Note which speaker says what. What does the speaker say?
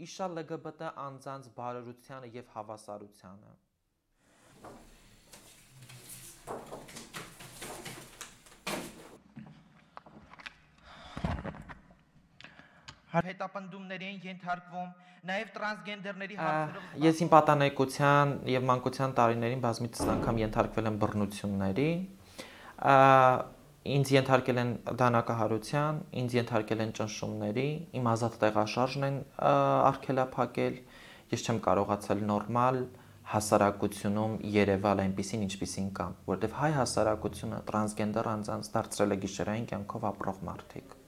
Speaker 1: իշա LGBT անձանց բարօրությանը եւ հավասարությանը։
Speaker 2: Հետապնդումների են ենթարկվում նաև տրանսգենդերների հարցերով։
Speaker 1: Ես իմ պատանեկության եւ մանկության տարիներին բազմիցս անգամ ենթարկվել եմ բռնությունների։ Ինձ ենթարկել են դանակահարության, ինձ ենթարկել են ճնշումների, իմ ազատ տեղաշարժն են արգելափակել, ես չեմ կարողացել նորմալ հասարակությունում երևալ այնպիսին, ինչպիսին կամ, որտեղ հայ հասարակությունը տրանսգենդեր անձանց դարձրել է գիշերային կյանքով ապրող մարդիկ։